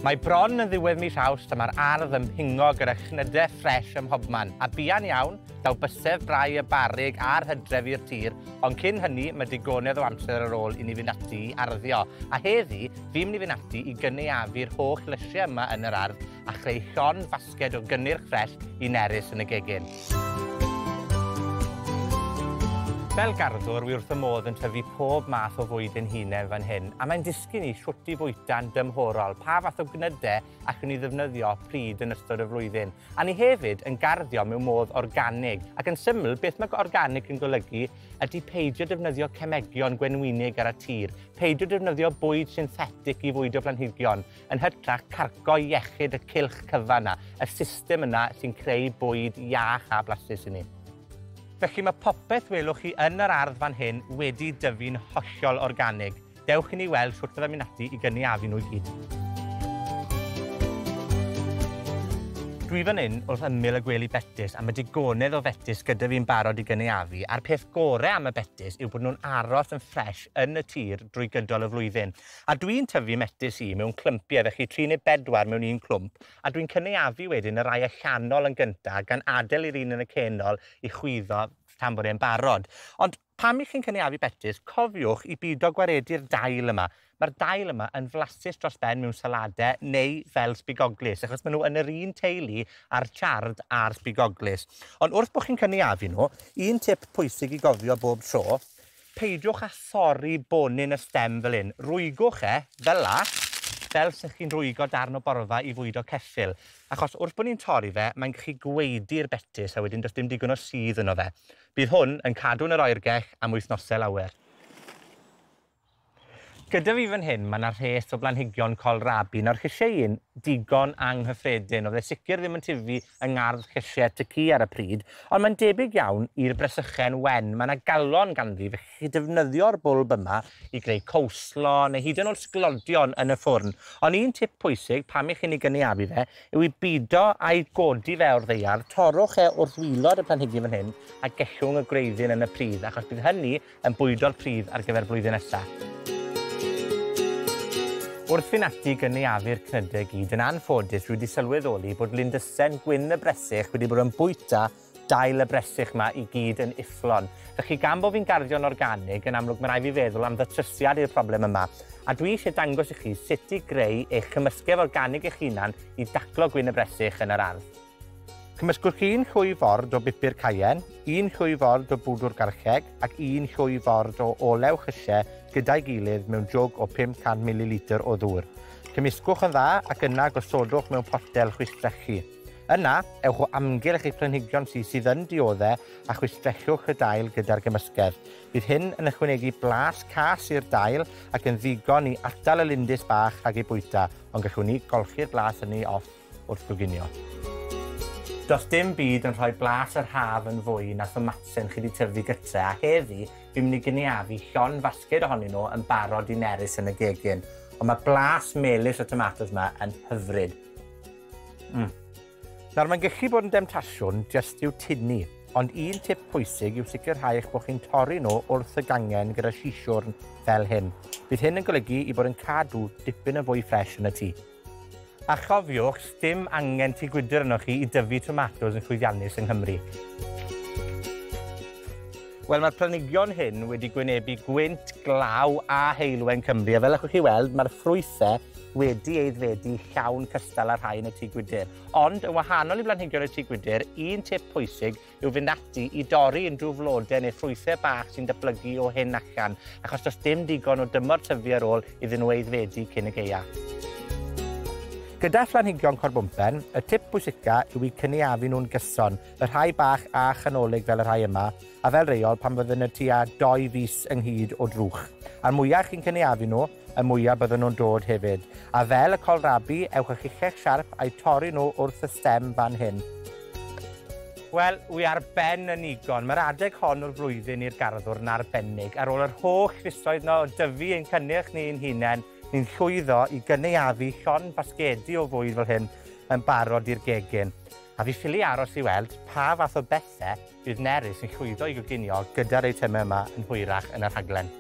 Mae bron yn ddiwedd mis Awst a mae'r ardd yn pingo gyda chnyde ffres ym mhobman. A buan iawn, daw bysedd brau y barrug a'r hydref i'r tir, ond cyn hynny, mae digonedd o amser ar ôl i ni fynd ati i arddio. A heddi, fi'n mynd i fynd ati i gynaeafu'r holl lysiau yma yn yr ardd a chreu llond fasged o gynnyrch ffres i Nerys yn y gegin. Fel garddwr, wi wrth 'y modd yn tyfu pob math o fwyd 'yn hunen fan hyn, a mae'n dysgu ni shwt i fwyta'n dymhorol, pa fath o gnyde allwn ni ddefnyddio pryd yn ystod y flwyddyn. A ni hefyd yn garddio mewn modd organig, ac yn syml, beth mae organig yn golygu ydi peidio defnyddio cemegion gwenwynig ar y tir, peidio defnyddio bwyd synthetic i fwydo planhigion, yn hytrach carco iechyd y cylch cyfan 'na, y system yna sy'n creu bwyd iach a blasus i ni. Felly mae popeth welwch chi yn yr ardd fan hyn wedi dyfu'n hollol organig. Dewch i ni weld shwt fyddai'n mynd ati i gynaeafu nhw i gyd. Dwi fan 'yn wrth ymyl y gwely betys, a ma' digonedd o fetys gyda fi'n barod i gynaeafu, a'r peth gore am y betys yw bod nw'n aros yn ffres yn y tir drwy gydol y flwyddyn. A dwi'n tyfu metys i mewn clympie, felly tri neu bedwar mewn un clwmp, a dwi'n cynaeafu wedyn y rai allanol yn gynta, gan adel i'r un yn y cenol i chwyddo tan bod e'n barod. Ond pam 'ych chi'n cynaeafu betys, cofiwch i bido gwaredu'r dail yma. Mae'r dail yma yn flasus dros ben mewn salade neu fel sbigoglys, achos maen nhw yn yr un teulu a'r chard a'r sbigoglys. Ond wrth bod chi'n cynaeafu nhw, un tip pwysig i gofio bob tro, peidiwch â thorri bonyn y stem fel 'yn. Rwygwch e, fel 'a, fel sech chi'n rwygo darn o borfa i fwydo ceffyl. Achos wrth bod ni'n torri fe, mae'n gallu gwaedu'r betys, a wedyn does dim digon o sudd yno fe. Bydd hwn yn cadw yn yr oergell am wythnosau lawer. Gyda fi fan hyn, mae 'na rhes o blanhigion coelrabi. Nawr, llysieuyn digon anghyffredin. O'dd e sicir ddim yn tyfu yng ngardd llysie tŷ cu ar y pryd, ond mae'n debyg iawn i'r bresychen wen. Mae 'na galon ganddi, felly chi defnyddio'r bwlb yma i greu coleslaw neu hyd yn o'd sglodion yn y ffwrn. Ond un tip pwysig pam 'ych chi'n 'i gynaeafu fe yw i bido â'i godi fe o'r ddaear. Torrwch e wrth wilod y planhigyn fan hyn a gellwng y gwreiddyn yn y pridd, achos bydd hynny yn bwydo'r pridd ar gyfer blwyddyn nesa. Wrth fynd ati i gynaeafu'r cnyde gyd, yn anffodus, dwi wedi sylweddoli bod lindysen gwyn y bresych wedi bod yn bwyta dail y bresych 'ma i gyd yn ufflon. Felly, gan bo' fi'n garddio'n organig, yn amlwg ma' rai' fi feddwl am ddatrysiad i'r problem yma. A dwi isie dangos i chi sut i greu eich cymysgedd organig eich hunan i daclo gwyn y bresych yn yr ardd. Cymysgwch un llwy ford o bupur cayenne, un llwy ford o bwdwr garlleg ac un llwy ford o olew llysie gyda'i gilydd mewn jwg o 500 mililitr o ddŵr. Cymysgwch yn dda ac yna gosodwch mewn potel chwistrellu. Yna, ewch o amgylch eich planhigion sy sydd yn diodde a chwistrellwch y dail gyda'r gymysgedd. Bydd hyn yn ychwanegu blas cas i'r dail ac yn ddigon i atal y lindys bach rhag eu bwyta, ond gallwn ni golchi'r blas hynny off wrth goginio. Does dim byd yn rhoi blas yr haf yn fwy na thomatsen chi 'di tyfu gytre, a heddi fi'n mynd i gynaeafu llond fasged ohonyn nw yn barod i Nerys yn y gegin. Ond ma' blas melys y tomatos 'ma yn hyfryd. Nawr, mae'n gallu bod yn demtasiwn jyst i'w tynnu, ond un tip pwysig yw sicrhau eich bod chi'n torri nhw wrth y gangen gyda sisiwrn fel hyn. Bydd hyn yn golygu i bod yn cadw dipyn yn fwy ffres yn y tŷ. A chofiwch, sdim angen tŷ gwydr arnoch chi i dyfu tomatos yn llwyddiannus yng Nghymru. Wel, mae'r planhigion hyn wedi gwynebu gwynt, glaw a heulwen Cymru, a fel allwch chi weld, mae'r ffrwythau wedi aeddfedu llawn cystal â rhai yn y tŷ gwydr. Ond, yn wahanol i blanhigion y tŷ gwydr, un tip pwysig yw fynd ati i dorri unrhyw flode neu ffrwythe bach sy'n datblygu o hyn allan, achos does dim digon o dymor tyfu ar ôl iddyn nhw aeddfedu cyn y gaea. Gyda phlanhigion corbwmpen, y tip pwysica yw i cynaeafu nhw'n gyson, y rhai bach a chanolig fel y rhai yma, a fel reol pan fydden nhw tua 2 fis ynghyd o drwch. A'r mwyaf chi'n cynaeafu nhw, y mwyaf bydden nhw'n dod hefyd. A fel y coelrabi, ewch â chichell siarp a'u torri nhw wrth y stem fan hyn. Wel, wi ar ben yn nigon. Mae'r adeg hon o'r flwyddyn i'r garddwr yn arbennig. Ar ôl yr holl fisoedd 'no o dyfu ein cynnyrch ni ein hunain, ni'n llwyddo i gynaeafu llond basgedi o fwyd fel hyn yn barod i'r gegin. A fi ffili aros i weld pa fath o bethe bydd Nerys yn llwyddo i goginio gyda'r eitemau yma yn hwyrach yn y rhaglen.